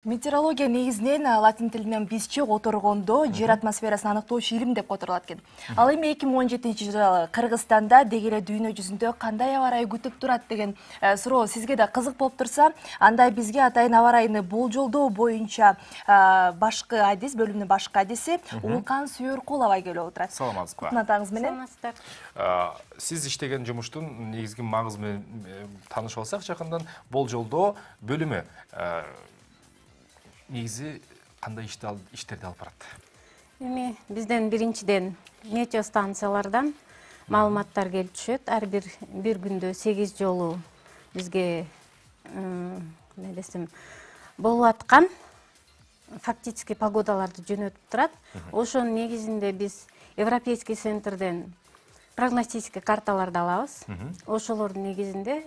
Метеорология негизинен латин тилинен бизче которгондо жер атмосферасын аныктоочу илим деп которулат экен. Ал эми 2017-жылы Кыргызстанда деги эле дүйнө жүзүндө кандай аба ырайы күтүп турат деген суроо сизге да кызык болуп турса, анда бизге атайын аба ырайыны болжолдоо боюнча башкы адис, бөлүмдүн башкы адиси Улкан Сүйөркулова келип отурат. Саламатсызбы? Кутман атаңыз менен. Саламатсыздар. Сиз иштеген жумуштун негизги маңызы менен таанышып алсак, жакындан болжолдоо бөлүмү негизи кандай иштерди алып барат? Эми бизден биринчиден метео станциялардан маалыматтар келип түшөт. Ар бир күндө 8 жолу бизге эмне десем болуп аткан фактически погодаларды жөнөтүп турат. Ошонун негизинде биз Европейский центрден прогностический карталарды алабыз. Ошолордун негизинде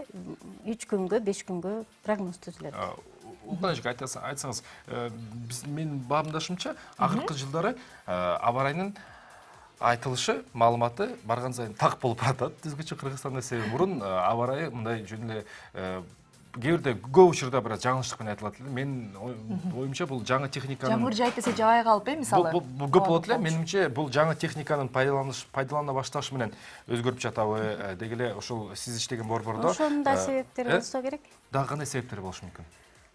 3 күнгө, 5 күнгө прогноз түзүлөт. Улкан эже айтсаңыз, менин баамдашымча, акыркы жылдары аба ырайынын айтылышы, маалыматы барган сайын так болуп баратат. Бизгече Кыргызстанда себеби мурун аба ырайы мындай жөн эле кээ бирде көп учурда бир жаңылыштык менен айтылат эле. Менин оюмча бул жаңы техниканын жамгыр жайып десе жабай калып, мисалы. Бул көп болот эле. Менимче бул жаңы техниканын пайдалана башташы менен өзгөрүп жатабы? Деги эле ошол сиз иштеген борбордо Ошонун да себептери болсо керек. Дагы кандай себептери болушу мүмкүн?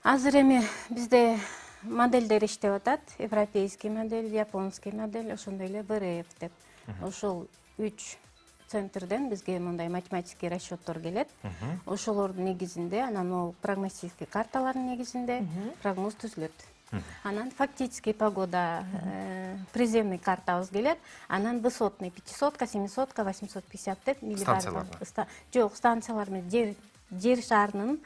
Азыр эми бизде модельдер иштеп атат. Европейский модель, японский модель, ошондой эле БРФ деп. Ошол 3 центрден бизге мындай математический расчеттор келет. Ошолордун негизинде, анан могу прогностический карталардын негизинде прогноз түзүлөт. Анан фактический погода, приземный картабыз келет. Анан высотный 500, 700, 850 деп жок, станциялар менен жер шарынын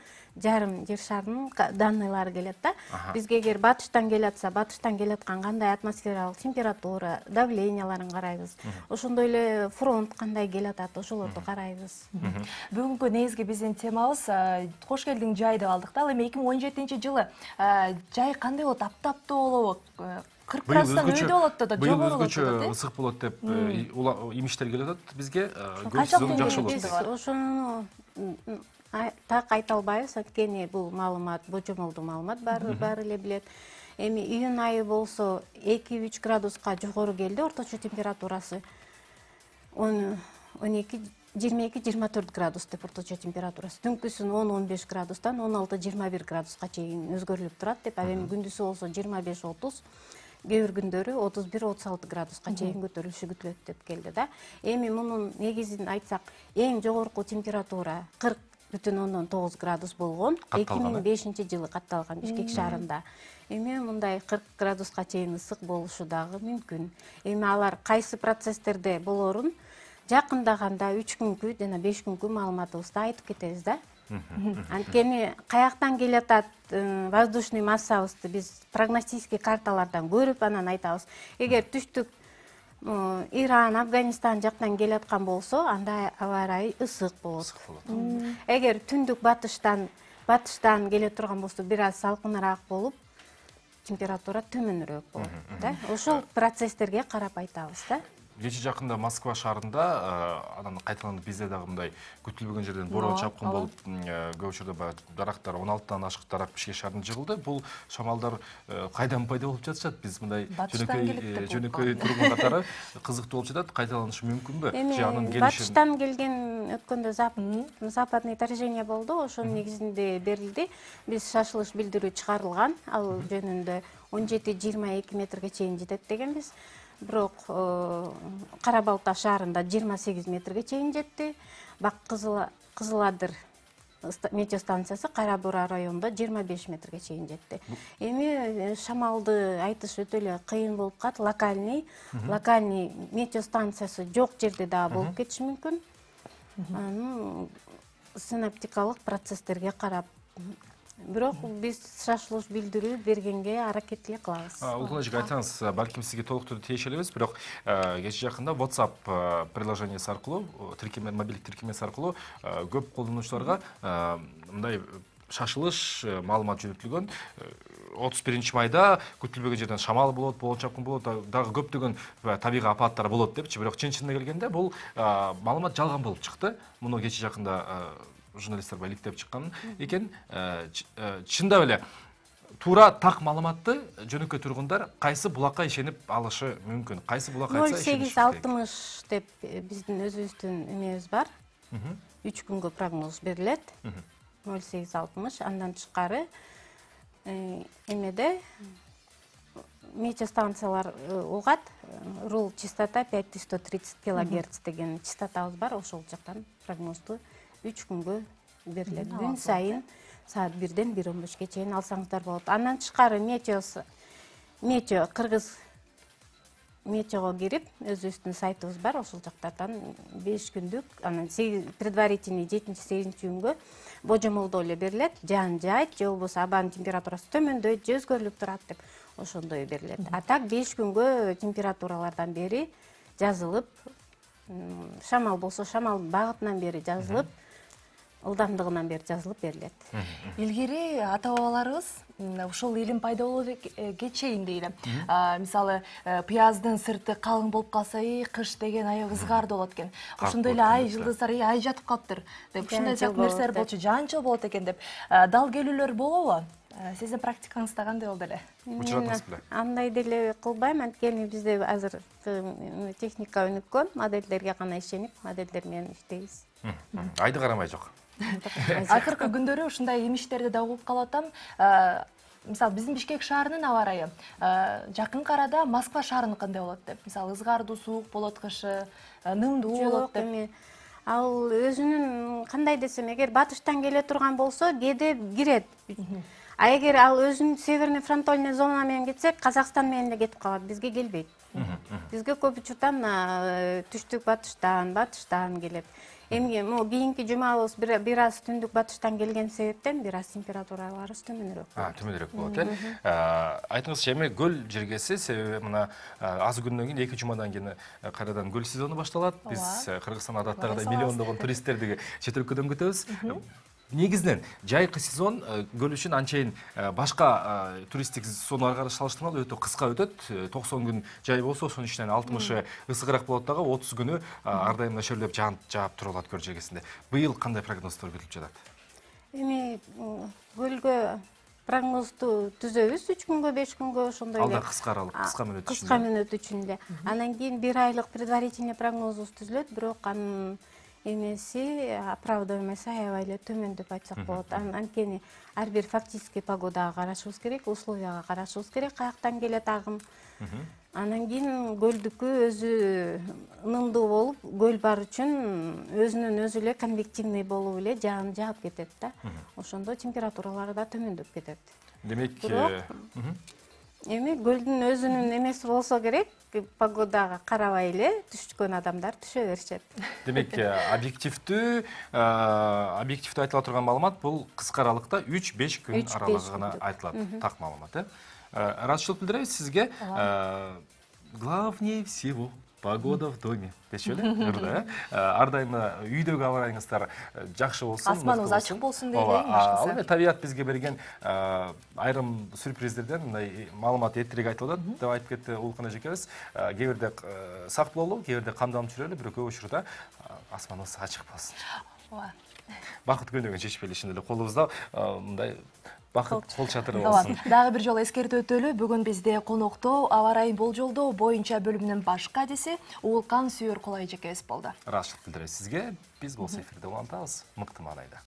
данныйлары келет да. Бизге эгер батыштан келатса, батыштан келаткан кандай атмосфералык температура, давленияларын карайбыз. Ошондой эле фронт кандай келатат, ошолорду карайбыз. Бүгүнкү негизги биздин темабыз кош келдиң жай деп алдык да. Ал эми 2017-жылы жай кандай болот? Аптаптуу болобу? 40 градустан өйдө болот да, жогору болот да. Быйыл ысык болот деп имиштер келип атат бизге. Канча жакшы болот. Биз ошону так айта албайбыз, анткени бул маалымат божомолдуу маалымат, баары эле билет. Эми июнь айы болсо 2-3 градуска жогору келди орточо температурасы. 22-24 градус деп орточо температурасы. Түнкүсүн 10-15 градустан 16-21 градуска чейин өзгөрүлүп турат деп. Ал эми күндүзү болсо 25-30, кээ бир күндөрү 31-36 градуска чейин көтөрүлүшү күтүлөт деп келди да. Эми мунун негизин айтсак, эң жогорку температура 40,9 градус болгон 2005-жылы катталган Бишкек шаарында. Эми мындай 40 градуска чейин ысык болушу дагы мүмкүн. Эми алар кайсы процесстерде болорун жакындаганда 3 күнкү жана 5 күнкү маалыматыбызда айтып кетебиз да. Анткени каяктан келатат воздушный массабызды биз прогностический карталардан көрүп анан айтабыз. Эгер түштүк Иран, Афганистан жактан келаткан болсо, анда аба ырайы ысык болот. Эгер түндүк батыштан келе турган болсо, бир аз салкыныраак болуп, температура төмөнүрөөк болот да. Ошол процесстерге карап айтабыз да. Кечээ жакында Москва шаарында анан кайталанып бизде дагы мындай күтүлбөгөн жерден бороо чапкын болуп, көп учурда дарактар 16тан ашык дарак Бишкек шаарына жыгылды. Бул шамалдар кайдан пайда болуп жатышат? Биз мындай жөнөкөй тургун катары кызыктуу болуп жатат. Кайталанышы мүмкүнбү? Же анын келиши? Батыштан келген өткөндө западный торжение болду. Ошонун негизинде берилди. Биз шашылыш билдирүү чыгарылган. Ал жөнүндө 17-22 метрге чейин жетет дегенбиз. Бирок Кара Балта шаарында 28 метрге чейин жетти. Бак Кызыладыр метео станциясы Кара Бура районунда 25 метрге чейин жетти. Эми шамалды айтыш өтө эле кыйын болуп калат. Локальный метео станциясы жок жерде дагы болуп кетиши мүмкүн. Синоптикалык процесстерге карап. Бирок биз шашылыш билдирүү бергенге аракет эле кылабыз. Улкан эже айтсаңыз, балким сизге толуктуу тийише элебиз, бирок кечээ жакында WhatsApp приложениясы аркылуу, мобилдик тиркемеси аркылуу көп колдонуучуларга мындай шашылыш маалымат жөнөтүлгөн. 31 майда күтүлбөгөн жерден шамал болот, болон чапкын болот, дагы көптөгөн табигый апаттар болот депчи. Бирок чын-чынына келгенде бул маалымат жалган болуп чыкты. Муну кечээ жакында журналисттер иликтеп чыккан экен. Чындап эле туура так маалыматты жөнөкөй тургундар кайсы булакка ишенип алышы мүмкүн? Кайсы булак айтса ишениш керек? 0860 деп биздин өзүбүздүн эмебиз бар. 3 күнгө прогноз берилет. 0860. Андан тышкары эмеде метеостанциялар угат. Рул частота 5130 кГц деген частотабыз бар. Ошол жактан прогнозду 3 күнгө берилет. Күн сайын саат 1-ден 1:15 чейин алсаңыздар болот. Андан тышкары метео кыргыз метеого кирип, өзүбүздүн сайтыбыз бар. Ошол жактардан 5 күндүк, анан предварительный 7-8 күнгө божомолдоо эле берилет. Жаан жаайт, же болбосо абанын температурасы төмөндөйт, же өзгөрүлүп турат деп ошондой берилет. А так 5 күнгө температуралардан бери жазылып, шамал болсо шамал багытынан бери жазылып, ылдамдыгынан бери жазылып берилет. Илгери ата-бабаларыбыз ушул илим пайда болууга чейин дейли. Мисалы, пияздын сырты калың болуп калса, кыш деген аябай ызгарды болот экен. Ошондой эле ай жылдыздар, ай жатып калыптыр деп, ушундай сыяктуу нерселер болчу, жаанчыл болот экен деп. Дал келүүлөр болобу? Сиздин практикаңызда кандай болду эле? Учуратасыз беле? Андай деле кылбайм, анткени бизде азыр техника өнүккөн, модельдерге гана ишенип, модельдер менен иштейбиз. Айды карамай жок. Акыркы күндөрү ушундай эмиштерди да угуп калып атам. Мисалы, биздин Бишкек шаарынын аба ырайы жакынкы арада Москва шаарыныкындай болот деп. Мисалы, ызгардуу суук болот кышы, нымдуу болот деп. Ал өзүнүн кандай десем, эгер батыштан келе турган болсо, кээде кирет. А эгер ал өзүнүн северный фронтальный зона менен кетсе, Казакстан менен эле кетип калат, бизге келбейт. Бизге көп учурдан түштүк батыштан келет. Эми могу кийинки жумабыз бир аз түндүк батыштан келген себептен бир аз температураларыбыз төмөнүрөөк болот. Төмөнүрөөк болот, айтыңызчы, эми көл жергеси, себеби мына аз күндөн кийин 2 жумадан кийин кайрадан көл сезону башталат. Биз Кыргызстан адаттагыдай миллиондогон туристтерди чет өлкөдөн күтөбүз. Негизинен жайкы сезон көл үчүн анчейин башка туристтик сезондорго салыштырмалуу өтө кыска өтөт. 90 күн жай болсо, ошонун ичинен 60 ысыгыраак болот дагы, 30 күнү ар дайым нөчөрлөп жаап турулат көл жергесинде. Быйыл кандай прогноздор күтүлүп жатат? Эми көлгө прогнозду түзөбүз 3 күнгө, 5 күнгө ошондой эле. Алда кыска аралык, кыска мөөнөт үчүн. Кыска мөөнөт үчүн эле. Андан кийин 1 айлык предварительный прогнозубуз түзүлөт, бирок анын эмеси оправдываемосу аябай эле төмөн деп айтсак болот. Анткени ар бир фактический погодага карашыбыз керек, условияга карашыбыз керек, каяктан келет агым. Анан кийин көлдүкү өзү ынымдуу болуп, көл бар үчүн өзүнүн өзү эле конвективный болуп эле жаан жаап кетет да. Ошондо температуралары да төмөндөп кетет. Демек, эми көлдүн өзүнүн эмеси болсо керек, погодага карабай эле түшкөн адамдар түшө беришет. Демек, объективдүү айтыла турган маалымат бул кыска аралыкта 3-5 күн аралыгы гана айтылат. Так маалымат, Ыраазычылык билдиребиз сизге. Главнее всего погода в доме. Деши эле? Ар дайым үйдөгү аба ырайыңыздар жакшы болсун, асманыбыз ачык болсун дейли. Ал эми табият бизге берген айрым сюрприздерден мындай маалымат эртерээк айтылып атат деп айтып кетти Улукан эжекебиз. Кээ бирде сак бололу, кээ бирде камданып жүрөлү, бирок көп учурда асманыбыз ачык болсун. Бакыт көйнөгүн чечпейли, чын эле колубузда мындай бакыт кол чатыры болсун. Дагы бир жолу эскертип өтөлү, бүгүн бизде конокто аба ырайын болжолдоо боюнча бөлүмүнүн баш кадиси Улукан Сүйөр Кулай эжекебиз болду. Ыраазычылык билдиребиз сизге. Биз болсо эфирде улантабыз. Мыкты маанайда.